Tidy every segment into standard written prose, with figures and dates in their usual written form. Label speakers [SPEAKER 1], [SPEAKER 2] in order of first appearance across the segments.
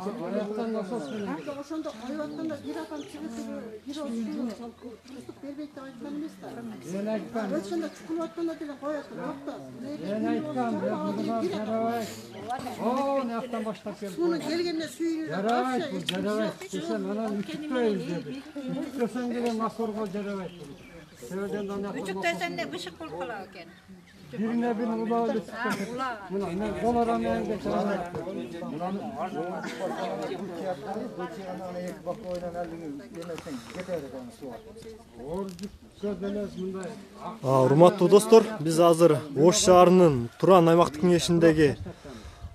[SPEAKER 1] Аяктан насос менен.
[SPEAKER 2] Ошондо коюп атканда бир адам чыгып бербейт деп айткан эмес да.
[SPEAKER 1] Мен айткам.
[SPEAKER 2] Ошондо чукулуп атканда деле коет.
[SPEAKER 1] Мен айткам, буга жарабайт. О, нактан баштап келди.
[SPEAKER 2] Муну келгенде сүйүнүп
[SPEAKER 1] жарабайт, бул жарабайт. Десем, анан үтүктөйбүз деди. Үтүктөсөң деле моторго жарабайт. Себебен да нактан.
[SPEAKER 3] Үтүктөсөң да бышык болуп калат экен.
[SPEAKER 1] Birine bir ulağı geçti. Buna dolara ne geçer?
[SPEAKER 4] Урматтуу достор, биз азыр Ош шаарынын Туран аймактык кеңешиндеги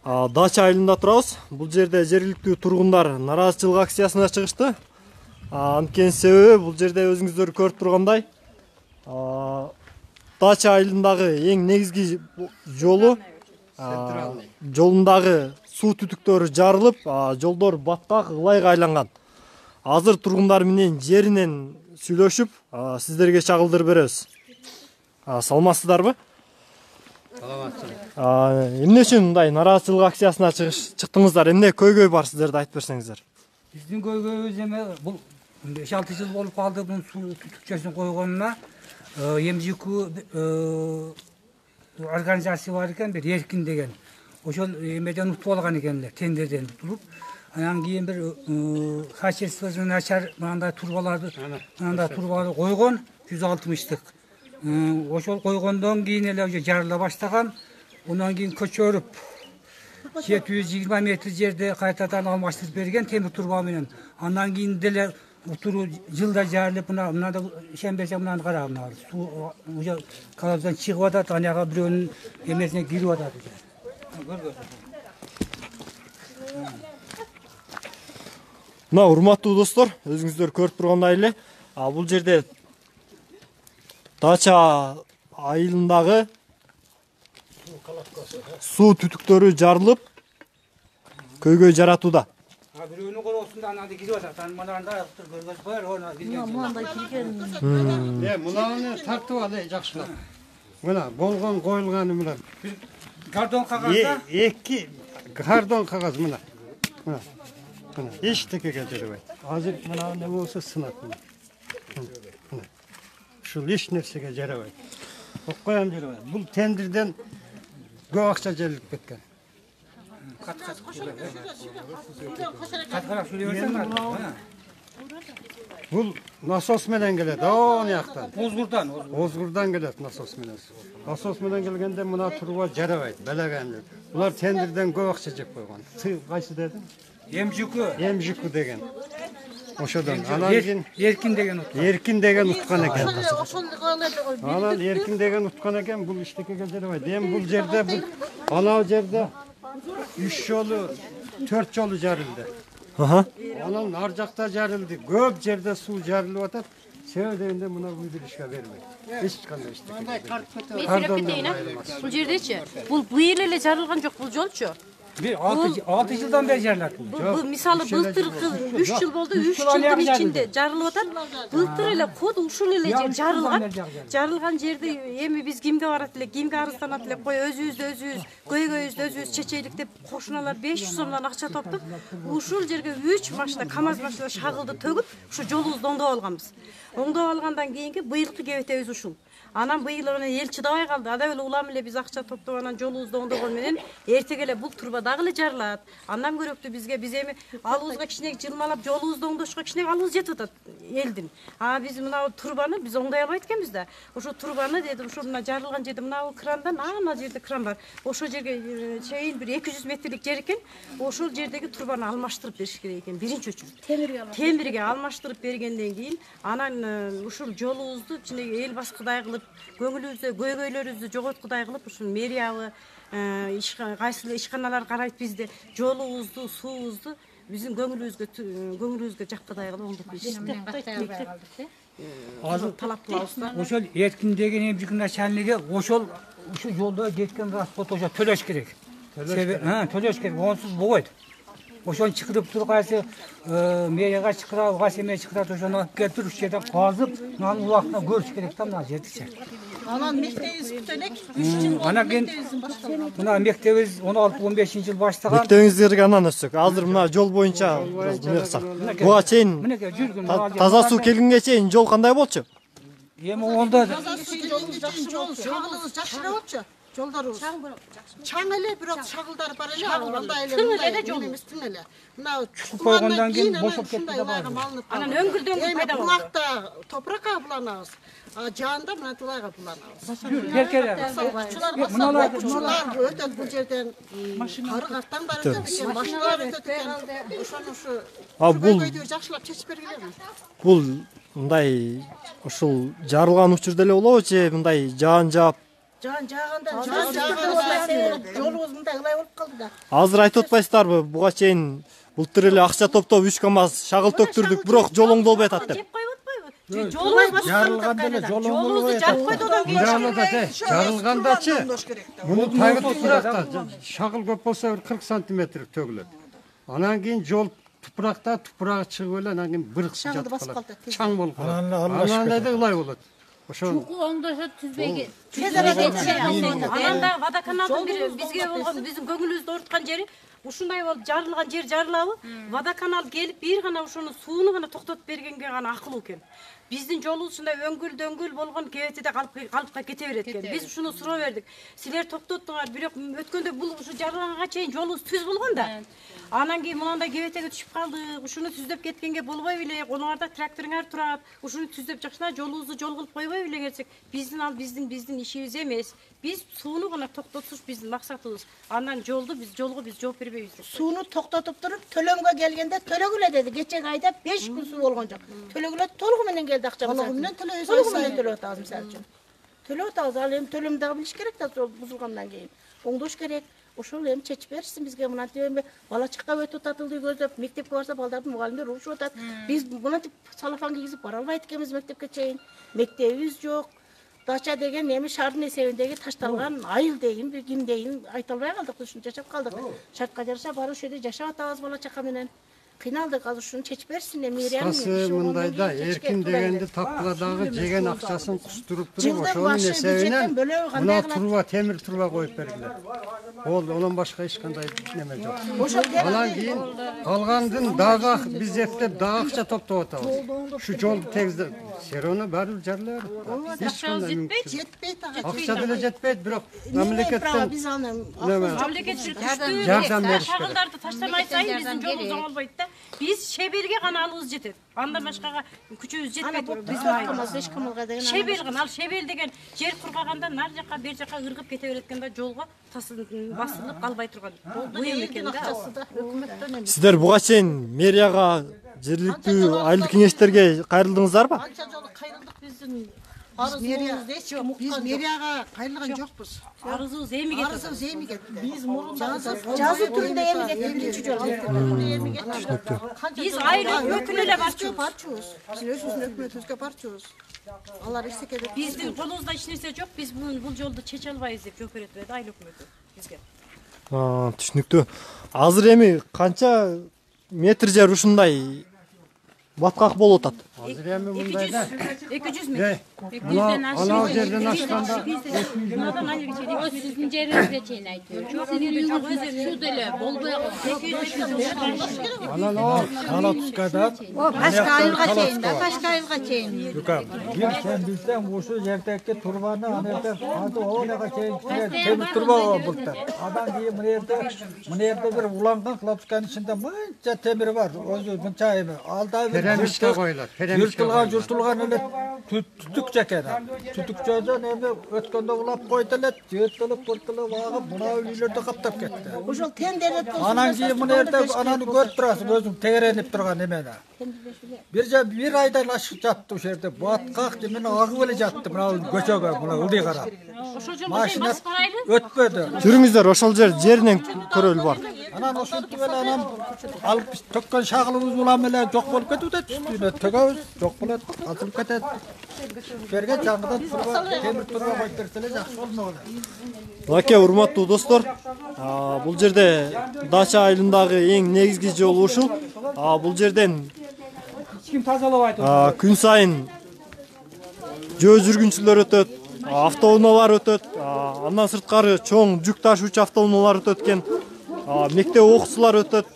[SPEAKER 4] Дача айылында турабыз. Бул жерде жергиликтүү тургундар нараазычылык акциясына чыгышты. Анткени себеби бул жерде өзүңүздөр көрүп тургандай Дача айылындагы эң негизги жолундагы суу түтүктөрү жарылып, жолдор баткак, ылайга айланган. Азыр тургундар менен жеринен сүйлөшүп, сиздерге чагылдырып беребиз. Саламатсыздарбы? Эмне үчүн мындай нараазычылык акциясына чыктыңыздар? Эмне көйгөй бар сиздерде айтып берсеңиздер.
[SPEAKER 5] Биздин көйгөйүбүз эме бул 5-6 жыл болуп калды бунун суу түтүкчөсүн койгонуна. МЖК организация бар экен, бир Эркин деген. Ошол эмеден утуп алган экенлер, тендерден утулуп. Анан кийин бир качествосу начар мындай турбаларды койгон 160-тык. Ошол койгондон кийин эле уже жарыла баштаган. Ондан кийин көчөрүп 720 метр жерде кайтадан алмаштырып берген темир турба менен. Андан кийин деле утуру жылда жарылып, мынада ишенбесең мынаны кара, мына суу уже колодоздан чыгып атат, анага бирөөнүн эмесине кирип атат.
[SPEAKER 4] Мына урматтуу достор, өзүңүздөр көрүп тургандай эле, бул жерде Дача айылындагы суу түтүктөрү жарылып, көйгөй жаратууда.
[SPEAKER 5] Бирөөнүн колосунда анада кирип атат. Мынанда аяктыр көргөз коер, оны кирген.
[SPEAKER 2] Мында кирген.
[SPEAKER 1] Мынаны тартып ал, жакшылап. Мына болгон коюлганы мына.
[SPEAKER 5] Картон кагазда?
[SPEAKER 1] Эки картон кагаз мына. Мына. Эчтекеге жарабайт. Азыр мына не болсо сынат. Мына. Ушул эч нерсеге жарабайт. Окуям жарабайт. Бул тендерден көп акча жарылып кеткен. Бул насос менен келет, он жактан. Озгурдан келет насос менен. Насос менен келгенде мына турба жарабайт, белегенде. Булар тендерден көп акча жеп койгон. Кайсы дедим? МЖК деген. Ошодон анан кийин
[SPEAKER 5] Эркин деген уткан.
[SPEAKER 1] Эркин деген уткан экен. Анан Эркин деген уткан экен, бул иштекеге жарабайт. Эми бул жерде анау жерде 3 жолу 4 жолу жарылды. Анан ар жакта жарылды. Көп жерде суу жарылып атат. Себеби дегенде мына билдиришке бербейт. Эч кандай иштеке.
[SPEAKER 6] Мен сүйлөп кетейин. Бул жердечи, бул быйыл эле жарылган жок бул жолчу.
[SPEAKER 5] 6 жылдан бери жарылат.
[SPEAKER 6] Мисалы былтыр 3 жыл болду, 3 жылдын ичинде жарылып атат. Былтыр эле код ушул эле жер жарылган. Жарылган жерде эми биз кимге барат эле, кимге арызданат эле, кой өзүбүз көйгөйүбүздү өзүбүз чечейлик деп кошуналар 500 сомдон акча топтоп, ушул жерге 3 машина, КАМАЗ машина шагылды төгүп, ушу жолубузду оңдоп алганбыз. Оңдоп алгандан кийинки быйылкы кебетебиз ушул. Анан быйыл эл чыдабай калды. Ада эле улам эле биз акча топтоп анан жолубузду оңдогон менен эртеге эле бул турба дагы эле жарылат. Андан көрөктүү бизге биз эми алыбызга кичине жылмалап жолубузду оңдошко кичине алыбыз жетип атат элдин. Биз мына турбаны биз оңдой албайт экенбиз да. Ошо турбаны деди, ушул мына жарылган жерде мына крандан, ана жерде кран бар. Ошол жерге чейин бир 200 метрлик жер экен. Ошол жердеги турбаны алмаштырып бериш керек экен. Биринчи өчүрүп. Темирге алмаштырып бергенден кийин анан ушул жолубузду кичине эл баскыдай кылып, көңүлүбүздө көйгөйлөрүбүздү жоготкудай кылып, ушул мэриябы, кайсыл ишканалар карайт бизди, жолубузду, суубузду биздин көңүлүбүзгө жаккыдай кылып оңдоп беришти.
[SPEAKER 5] Азыр талап кылабыз. Ошол Эркин деген эмжикин начальниги ошол жолдо жеткен расход ошо төлөш керек. Төлөш керек, онсуз болбойт. Ошону чакырып туруп кайсы мэрияга чакырабы, кайсы эме чакырат, ошону алып келип туруп, ушул жерде казып, мынанын убактына көрүш керек да, мына жердичи.
[SPEAKER 2] Анан мектебибиз бүтөн 3 жыл болду.
[SPEAKER 5] Анан кийин мына мектебибиз 16-15 жыл баштаган.
[SPEAKER 4] Мектебиңиздерге анан өтсөк. Азыр мына жол боюнча буга чейин
[SPEAKER 5] Мынакей жүргүн.
[SPEAKER 4] таза суу келгенге чейин жол кандай болчу?
[SPEAKER 5] Эми онда
[SPEAKER 2] Жол шагылыбыз жакшыраак болчу. Жолдорубуз чаң эле, бирок шагылдар бар эле. Андай эле жол эмес, тың эле. Мына
[SPEAKER 5] койгондон кийин бошоп кетти да бар.
[SPEAKER 6] Анан өңгүлдөн пайда болду.
[SPEAKER 2] Булакта топуракка буланабыз. Жаанда мына тулайга буланабыз.
[SPEAKER 5] Беркелер.
[SPEAKER 2] Мыналар өтөт бул жерден. Кары картан бар экен, машиналар өтөт экен. Ошону ушу
[SPEAKER 4] Бул
[SPEAKER 2] жакшылап чечип бергиле.
[SPEAKER 4] бул мындай ушул жарылган учурда эле болобу же мындай жаан жаап
[SPEAKER 2] Жааганда жолубуз мындай ылай болуп калды да.
[SPEAKER 4] азыр айтып атпайсыздарбы? Буга чейин былтыр эле акча топтоп 3 КАМАЗ шагыл төктүрдүк, бирок жол оңдолбой атат деп.
[SPEAKER 6] Жеп коюп атпайбы? Жолубуз
[SPEAKER 5] Жарылганда эле жол
[SPEAKER 6] жолубузду жаап койду одан кийин.
[SPEAKER 1] Жарылгандачы муну тагы тупуракта шагыл көп болсо 40 сантиметр төгүлөт. Анан кийин жол тупурагы чыгып эле анан кийин быркып жатып калат. Чаң болуп калат. Анан эле ылай болот. Ошо
[SPEAKER 3] оңдошо түзбөйгө.
[SPEAKER 6] Анан да водоканалдын бир бизге болгон биздин көңүлүбүздү ооруткан жери ушундай болуп жарылган жер жарылабы? Водоканал келип бир гана ушуну сууну гана токтотуп бергенге гана акылуу экен. Биздин жолубуз ушундай өңгүл болгон кебетеде калыпка кете берет экен. Биз ушуну суроо бердик. Силер токтоттуңар, бирок өткөндө бул ушу жарылганга чейин жолубуз түз болгон да. Анан кийин мындай кебетеге түшүп калдык. Ушуну түздөп кеткенге болбой беле? Колуңарда тракторуңар турат. Ушуну түздөп жакшына жолубузду жол кылып койбой беле келсек? Биздин ишибиз эмес. Биз сууну гана токтотуш биздин максатыбыз. Андан жолго биз жооп бербейбиз.
[SPEAKER 2] Сууну токтотуп туруп, төлөмгө келгенде төлөгүлө деди. Кечеги айда 5 күн суу болгон жок. Төлөгүлө толугу менен келди акча. Толугу менен төлөйбүз. Толугу менен төлөп атабыз мисалы үчүн. Төлөп атабыз. Ал эми төлөмдү дагы билиш керек да, бузулгандан кийин. Оңдош керек. Ошол эми чечип беришсин бизге. Мынантип эми бала чакка өтүп атат, көздөп, мектепке барса балдардын мугалимдер урушуп атат. Биз мынантип салафан кийгизип бара албайт экенбиз мектепке чейин. Мектебибиз жок. Дача деген эми шаардын эсебиндеги ташталган айыл дейинби, ким дейин айта албай калдык, ушунча жашап калдык. Шартка жараша барып ошол жерде жашап атабыз бала чака менен. Кыйналдык, азыр ушуну чечип берсин эми.
[SPEAKER 1] кыскасы мындайда эркин дегенди тапкыла дагы жеген акчасын кустуруп туруп ошонун эсебинен мына труба, темир труба коюп бергиле. Онон башка эч кандай неме жок. Анан кийин калгандын дагы биз эптеп дагы акча топтоп атабыз. Ушу жолду тегиздеп серону баары жарылар. Эч кандай
[SPEAKER 2] жетпейт
[SPEAKER 1] акча деле жетпейт, бирок мамлекеттен
[SPEAKER 2] биз аны
[SPEAKER 6] Мамлекет
[SPEAKER 1] жардам бериш керек.
[SPEAKER 6] Шагылдарды таштамай сайын биздин жолубуз оңолбойт да. Биз шеберге гана алыбыз жетет. Андан башкага күчүбүз жетпейт.
[SPEAKER 2] биз камалга деген
[SPEAKER 6] Шебел гана, ал шебел деген жер кургаганда нар жака бер жака ыргып кете берет экен да, жолго басылып калбай турган. Буюм экен да.
[SPEAKER 2] өкмөттөн эми
[SPEAKER 4] Сиздер буга чейин мэрияга, жергиликтүү айылдык кеңештерге кайрылдыңыздарбы?
[SPEAKER 2] анча жолу кайрылдык биздин арызыбызды эч ким уккан жок. Биз мэрияга кайрылган жокпуз.
[SPEAKER 6] Арызыбыз эми кетти.
[SPEAKER 2] Арызыбыз эми кетти. Биз мурун жазуу түрүндө эми кетти биринчи жолу. Эми кетти.
[SPEAKER 6] Биз айыл өкмөтүнө эле
[SPEAKER 2] барчубуз. Биз өзүбүздүн өкмөтүбүзгө барчубуз. Алар эчтеке деп
[SPEAKER 6] биздин колубузда эч нерсе жок. Биз бул жолду чече албайбыз деп жооп берет эле айыл өкмөтү бизге.
[SPEAKER 4] Түшүнүктүү. Азыр эми канча метр жер ушундай баткак болуп атат?
[SPEAKER 1] Азыр эми мындайда
[SPEAKER 6] 200 метр.
[SPEAKER 1] анау жерден ашканда
[SPEAKER 6] Мынадан айылга чейин
[SPEAKER 3] О сиздин жериңизге чейин айтып. Суу деле болбой
[SPEAKER 1] анан ал
[SPEAKER 7] Кала тускада.
[SPEAKER 3] Башка айылга чейин да, башка айылга чейин.
[SPEAKER 7] Бир сен билсең ушу жердеги турбаны аны жерде кантип оонага чейин темир турба булта. Андан кийин мына жерде бир уланган клапсканын ичинде мынча темир бар. Өзү мынча эми алда бир
[SPEAKER 1] перемишке коюлат.
[SPEAKER 7] журтулган эле түтүк жакен. Түтүк жадан эми өткөндө улап койду эле, жыртылып агып мына үйлөрдү каптап кетти.
[SPEAKER 2] ошол тендерет
[SPEAKER 7] Анан кийин мына жерде ананы көрүп турасың, өзүң тегеренип турган эмени. Bir aydan ашык жатты ошол жерде. Баткак жемени агып эле жатты мына көчөгө, мына ылдый карап.
[SPEAKER 6] ошол жолго
[SPEAKER 7] Машина
[SPEAKER 6] басып барайлы.
[SPEAKER 7] өтпөдү.
[SPEAKER 4] Жүрүңүздөр, ошол жеринен көрөлү бар.
[SPEAKER 7] Анан ошентип эле анан алып төккөн шагылыбыз улам эле жок болуп кетип атат. Үстүнө төгөбүз, жок болот, атылып кетет. Берге жаңыдан темир турба коюп берсе эле жакшы болмок эле.
[SPEAKER 4] Мынакей урматтуу достор, бул жерде Дача айылындагы эң негизги жол ушул. Бул жерден
[SPEAKER 5] Эч ким тазалабайт.
[SPEAKER 4] күн сайын жөө жүргүнчүлөр өтөт. автоунаалар өтөт. Андан сырткары чоң жүк ташуучу автоунаалар өтөт экен. Мектеп окуучулар өтөт.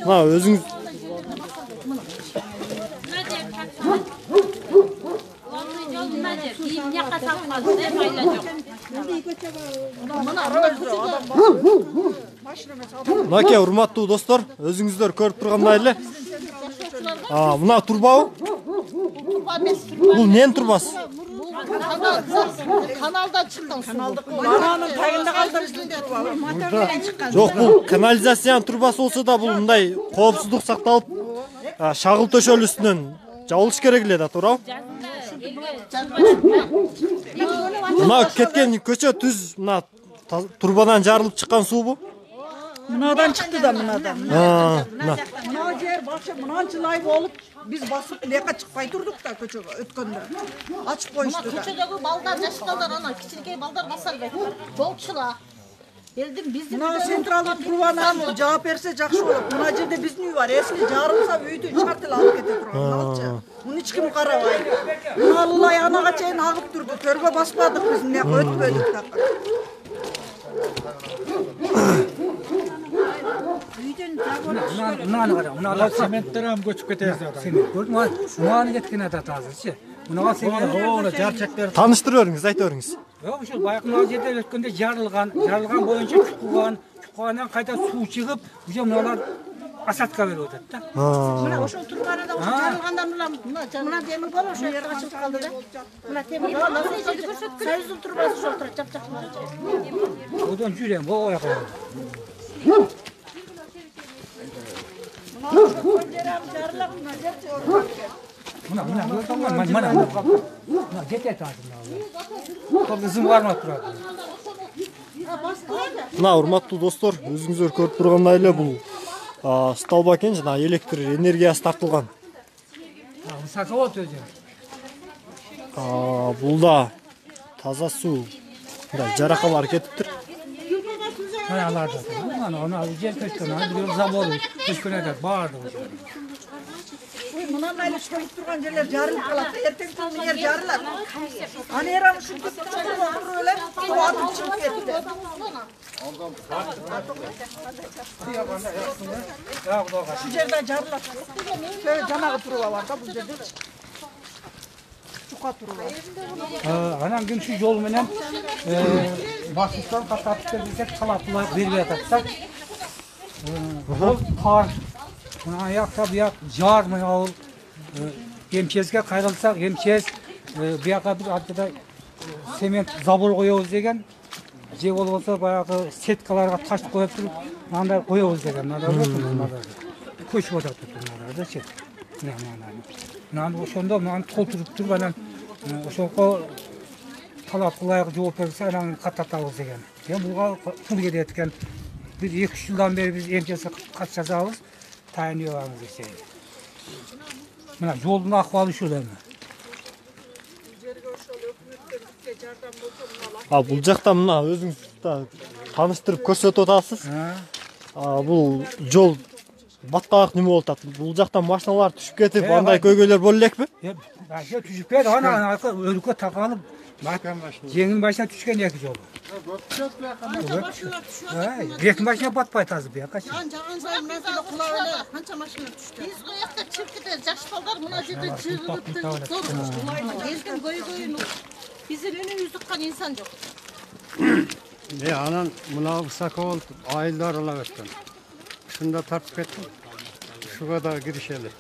[SPEAKER 4] Мына өзүңүз Мынакей урматтуу достор, өзүңүздөр көрүп тургандай эле. Мына турбабы? Бул эмненин турбасы?
[SPEAKER 2] Каналдан чыккан суу.
[SPEAKER 8] Ананын тагында калдырып
[SPEAKER 4] Жок, бул канализациянын турбасы болсо да бул мындай коопсуздук сакталып, шагыл төшөл үстүнөн жабылыш керек эле да, туурабы? Мына кеткен көчө түз мына турбадан жарылып чыккан суубу?
[SPEAKER 8] мынадан чыкты да мынадан.
[SPEAKER 4] Мына.
[SPEAKER 8] Мына жер башка мынанча ай болуп биз басып лека чыкпай турдук да көчөгө өткөндө. Ачып коюшту да.
[SPEAKER 2] Көчөдөгү балдар, жаш балдар, ана кичинекей балдар баса албайт. Болчула. Элдин биздин
[SPEAKER 8] Мына централдык турбаны жаап берсе жакшы болот. Мына жерде биздин үй бар. Эсли жарылса үйдү шарт эле алып кете турган. Мыначы. Муну эч ким карабайт. Мына Аллай анага чейин агып турду. Төргө баспадык биз мына өтпөдүк так.
[SPEAKER 5] Мынаны кара, мына
[SPEAKER 7] Цементтер ham көчүп кетет.
[SPEAKER 5] көрдүңбү? Мынаны кеткен атат азырчы. Мынага себеби
[SPEAKER 7] Жарчактар
[SPEAKER 4] Тааныштырып бериңиз, айта бериңиз.
[SPEAKER 5] Yok şu bayaklar жерде өткөндө жарылган боюнча чуккандан кайта суу чыгып, уже мыналар асадка берип атат да.
[SPEAKER 2] Мына ошол турбаны да жарылгандан мына темир бол ошо жерге ачылып калды да. Мына темир бол Союздун турбасы ошол турат, жапжак.
[SPEAKER 5] Одан жүрөм, бо аякка. Мына кетет азыр. Кызым бармап турат.
[SPEAKER 4] Мына урматтуу достор, өзүңүздөр көрүп тургандай эле бул столба экен, жана электр энергиясы тартылган.
[SPEAKER 5] Сатып өзү.
[SPEAKER 4] Бул да таза суу. Мындай жаракалар кетиптир.
[SPEAKER 5] Аларды. Аны жер көчкөн, аны завод көчкөн атат, баардыгы.
[SPEAKER 8] Мындан эле шоюп турган жерлер жарылып калат. Эртең күнү жер жарылат. Аны эрам ушинтип туруп эле туатып чыгып кетти. Şu жерде жарылат. Жанагы туруба бар да бул жерде. Чука туруба.
[SPEAKER 5] Анан ким şu жол менен басыштан каттап келсек талаплар берип атат да. Бул кар. Мына аякта буяк жар мына ал эмчезге кайрылсак, эмчез буяка бир артыда цемент забор коебуз деген. Же болбосо баягы сеткаларга таш коюп туруп, андай коебуз деген. Көчүп атат мыналардачы. Мына ошондо мына толтуруп туруп анан ошого талапка ылайык жооп берсе анан каттатабыз деген. Буга пул кетет экен. Бир 2 жылдан бери биз эмчезге кат жасабыз. Тайыныбыз десе. Мына жолдун акыбалы ушул эми.
[SPEAKER 4] Бул жакта мына өзүңүз да тааныштырып көрсөтүп атасыз. Бул жол баткалык неме болуп атат. Бул жактан машиналар түшүп кетип, андай көйгөйлөр боло элекпи?
[SPEAKER 5] Түшүп кетти, анан өлкө такалып, жеңил машина түшкөн эки жол. Эки машина батпайт азыр буякачы.
[SPEAKER 2] Жаган сайын мына кулап эле канча машина түштү. Биз коякта чиркиде жаш балдар мына жерде жыгылып туруп, эркин көйгөйүн биздин өнүбүздү уккан инсан жок.
[SPEAKER 1] Анан мына высоко болуп айылдар алып өткөн. Ушунда тартып кеттим. Ушуга да киришели.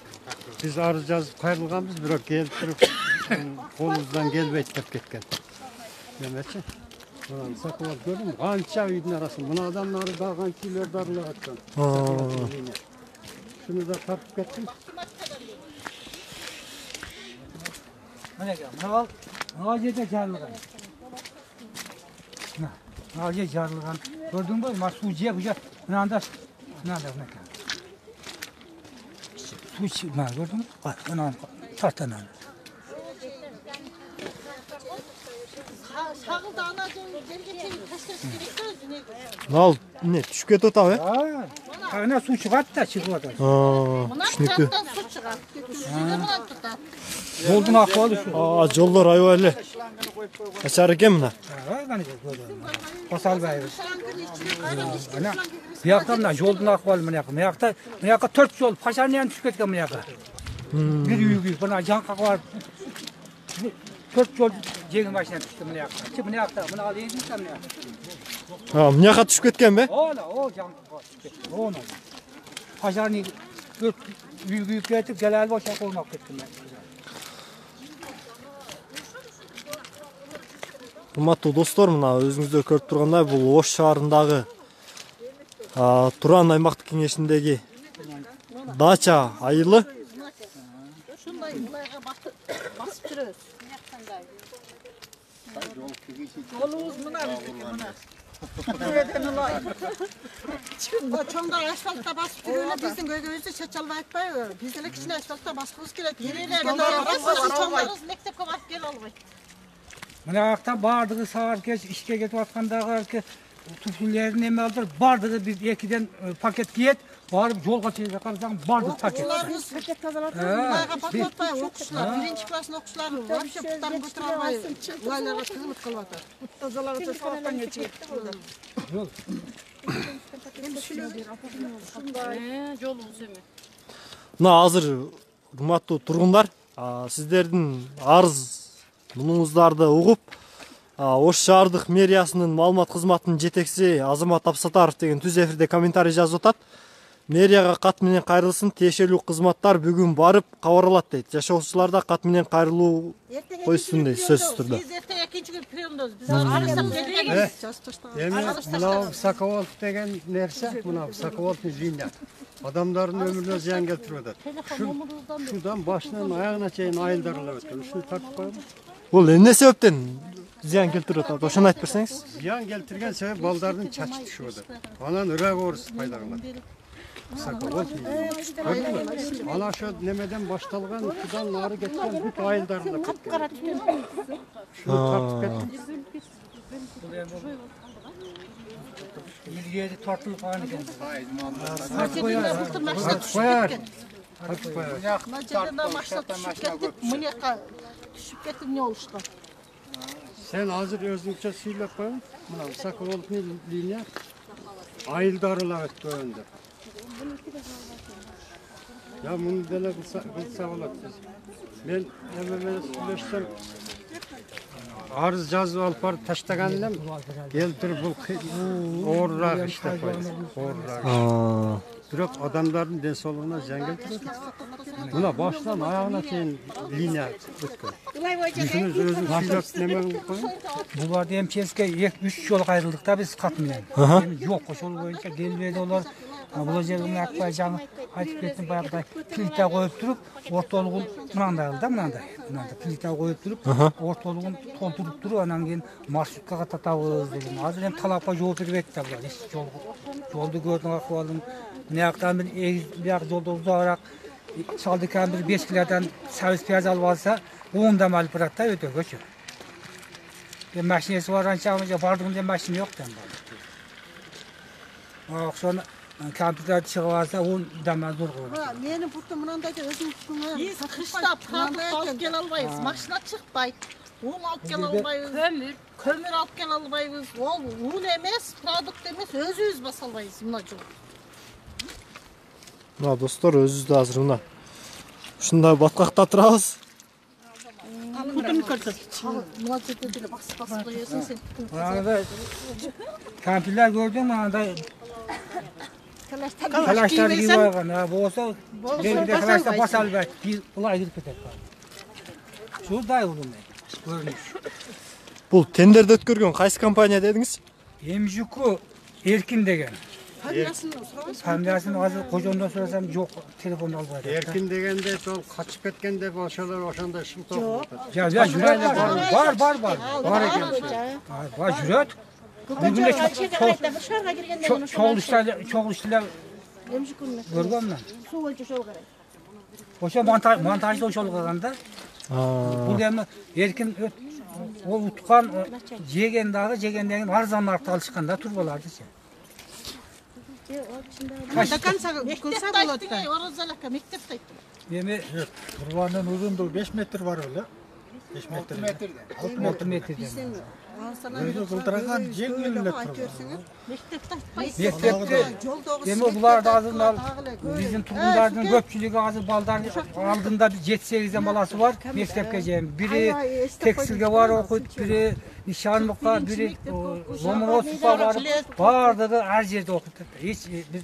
[SPEAKER 1] Биз арыз жазып кайрылганбыз, бирок келип туруп колубуздан келбейт деп кеткен. Демечи. Мына высоко болуп көрдүм, канча үйдүн арасында. Мынадан нары да канча үйлөр дарылап аткан. Шуну да тартып кеттим.
[SPEAKER 5] Мына жерде жарылган. Мына жер жарылган. Көрдүңбү? Мына суу жеп уже мынанда суу мына көрдүңбү? Мына тартанан.
[SPEAKER 2] Шагылда ана жерге чейин ташташ керек да, жүнөгө.
[SPEAKER 4] Ал эмне түшүп кетип атабы?
[SPEAKER 2] Мына
[SPEAKER 5] Ana su çıkart da çıkıyor da.
[SPEAKER 4] Түшүнүктүү.
[SPEAKER 2] Su çıkar. Suyu bundan tutar.
[SPEAKER 5] Yolun ahvalı şu.
[SPEAKER 4] Жолдор аябай эле начар экен мына.
[SPEAKER 5] Qani Qosalbayız. Ana bu yoqda mına yoldun ahvalı mına yoqda. Bu yoqda 4 yol Paşarniyan tushib ketgan bu yoqqa. Bir uy buna janqa var. 4 yol jеңil машина tushdi bu yoqqa. Bu yoqda buni al yengilsan bu yoqqa.
[SPEAKER 4] Мына жака түшүп кеткенби?
[SPEAKER 5] Ola o janqa tushib ketdi. Ona. Paşarni 4 uy ketip gelal boşa qo'ymoq ketdim men.
[SPEAKER 4] Урматтуу достор, мына өзүңүздөр көрүп тургандай бул Ош шаарындагы Туран аймактык кеңешиндеги дача айылы.
[SPEAKER 2] Şunday bulayga basıp жүрөбүз.
[SPEAKER 8] Yolumuz mına bizdeki mına. Nereden olay?
[SPEAKER 2] O çoğunda asfaltta basıp жүрөбүz. Биздин көйгөйүздү чеч албай атпайбы? Биз эле кичине асфальтта баскыбыз келет. Элелерге чоңдарыбыз мектепке барып келе албайт.
[SPEAKER 5] Mına yoqda bardығы sağır keç işke ketip atkandağı tuflilerini eме aldır. Bardығы bir ekiden paket giyet. Barıp yolga çekip kalsan bardık paket.
[SPEAKER 2] Okuşlarımız paket tazalatır. Bulayga paket atpay okuşlar. Birinci klasın okuşları вообще puttарын götürüp alбай. Bulaylarga tızılıp kalıp atar.
[SPEAKER 8] Put tazalarıcı sağlıktan geçecek.
[SPEAKER 5] Yol.
[SPEAKER 3] Жолу эме.
[SPEAKER 4] Мына азыр урматтуу тургундар, сиздердин арыз мунуңуздарды угуп, Ош шаардык мэриясынын маалымат кызматынын жетекчиси Азамат Абсатаров деген түз эфирде комментарий жазып атат. Мэрияга кат менен кайрылсын, тиешелүү кызматтар бүгүн барып кабарлат дейт. Жашоочулар да кат менен кайрылуу койсун дейт сөзсүз түрдө.
[SPEAKER 2] Биз эртең экинчи күн приемдобуз. Биз арызсап келгенбиз. Жазып таштаган.
[SPEAKER 1] Эми мына Высоковолт деген нерсе, мына Высоковолтун линия. Адамдардын өмүрүнө зыян келтирип атат. Шудан башынан аягына чейин айылдарлап өткөн. Ушуну тартып коелу.
[SPEAKER 4] Бул эмне себептен зыян келтирип атат? Ошону айтып берсеңиз.
[SPEAKER 1] Зыян келтирген себеп балдардын чачы түшүп атат. Анан ырагорус пайда кылат. Высоковолт. Ана ошо немеден башталган, шудан нары кеткен бүт айылдарында
[SPEAKER 2] Капкара түтүн.
[SPEAKER 1] Шуну тартып кетти.
[SPEAKER 5] Yeri tartılıp falan ekan.
[SPEAKER 2] Maşина былтыр машина түшүп кеткен. Мына жерден машина түшүп кетип, мынакка түшүп кетип эмне болушкан.
[SPEAKER 1] Sen hazır özünce söylep koyun. Buna Высоковолтный linia ayıldarılar öttü önde. Ya bunu dele kılsa olat biz. Ben hemen söyleşsem arız жазып алып барып таштагандан келтирип бул оорураак иштеп коет. Оорураак. Бирок адамдардын ден соолугуна зыян келтирет. Мына башынан аягына чейин линия өткөн. Жүзүнүз өзүң сүйлөп неме кылып коюң.
[SPEAKER 5] Буларды МЧСке 2-3 жол кайрылдык да биз кат менен. Жок, ошол боюнча келбейди олар. Бул жерге акпай жаңы айтып кеттим баягыдай плита коюп туруп, ортолугун мынандай кылды да, мынандай плита коюп туруп, ортолугун толтуруп туруп, анан кийин маршруткага татабыз деген. Азыр эми талапка жооп бербейт да булар. Жолду көрдүң акыбалын. Мынаяктан бир бияк жолду узагыраак Шалдыкан bir 5 kilodan servis piyaz alıp alsa 10 dam alıp bırak da ödөгөчү. Maşinesi var ançamıca bardığında maşin yok da. Sonra kompüter çıkıp alsa 10 dam zor koyuyor.
[SPEAKER 2] Menin burada mınandaki özüm tutumum. Biz kışta pratik alıp gel albayız. Maşina çıkpayt. Un alıp gel albayız. Kömür alıp gel albayız. Un emes, produkt emes, özüz bas albayız. Mına жол.
[SPEAKER 4] Мына достор, өзүбүздү азыр мына ушундай баткакта турабыз.
[SPEAKER 2] Күтүн көрсөт. Мына жерде деле басып коесуң сен.
[SPEAKER 5] Мынада компьютер көрдүм, мынандай Kalashlar gibi var ya, bu olsa belki kalashlar basar belki, bulay girip gider. Şurada oldum ben, görünüş.
[SPEAKER 4] Bul tenderde ötkөргөн kaysı kompanya dediniz?
[SPEAKER 5] Emjuku Erkin degen. Familiyasını hazır kocandan sorasam yok, telefonu albaydı.
[SPEAKER 1] Erkin degende sol kaçıp ketkende başalar oşanda şıltı oldu.
[SPEAKER 5] Ya jüreyle var. Var jüret. Bugün de çok işler görgön mü?
[SPEAKER 2] Su ölçü şol gerek.
[SPEAKER 5] Oşa montajda oşol kılganda. Bu demi Erkin o utkan jegen dagı jegenden arzan narxta alışkanda turbalardı.
[SPEAKER 2] До конца кылса болот да. Оразалакка мектепте айттым.
[SPEAKER 5] Эми
[SPEAKER 7] Турбанын узундугу 5 метр бар беле. 5 метр.
[SPEAKER 5] 6 метрден.
[SPEAKER 7] Өзү кылдырган жеңил эле турба.
[SPEAKER 2] Мектепте айтпайсың.
[SPEAKER 5] Мектепте эми булар азыр биздин тургундардын көпчүлүгү азыр балдардын алдында 7-8 баласы бар мектепке жейин. Бири текстилге бар окуйт, бири нишанлыкка, бири Ломоносовго барып, баардыгы ар жерде окуйт. Эч биз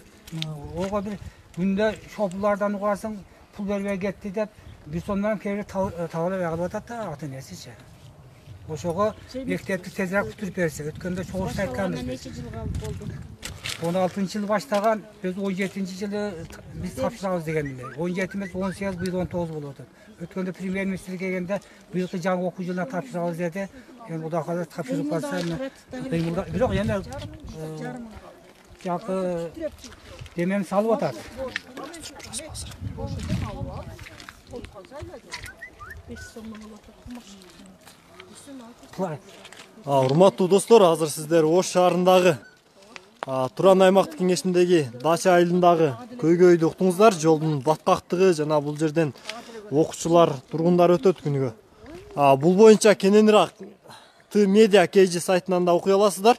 [SPEAKER 5] ого бир күндө шопулардан угарсаң пул бербей кетти деп бир сомдон кээ бир табалап калып атат да ата-энесичи. Ошого мектепти тезирээк бүтүрүп берсе, өткөндө чогулуп айтканбыз.
[SPEAKER 2] Нече жыл болду?
[SPEAKER 5] 16-жылы баштаган, biz 17-жылы биз тапшырабыз деген эле. 17 эмес 18, быйыл 19 болуп атат. Өткөндө премьер-министр келгенде быйылкы жаңы окуу жылына тапшырабыз деди. Эми Кудай кааласа тапшырып калса, бирок эми жакы демем салып атат.
[SPEAKER 4] Урматтуу достор, азыр сиздер Ош шаарындагы Туран аймактык кеңешиндеги Дача айылындагы көйгөйдү уктуңуздар. Жолдун баткактыгы жана бул жерден окуучулар, тургундар өтөт күнүгө. Бул боюнча кененирээк Т-Media KG сайтынан да окуй аласыздар.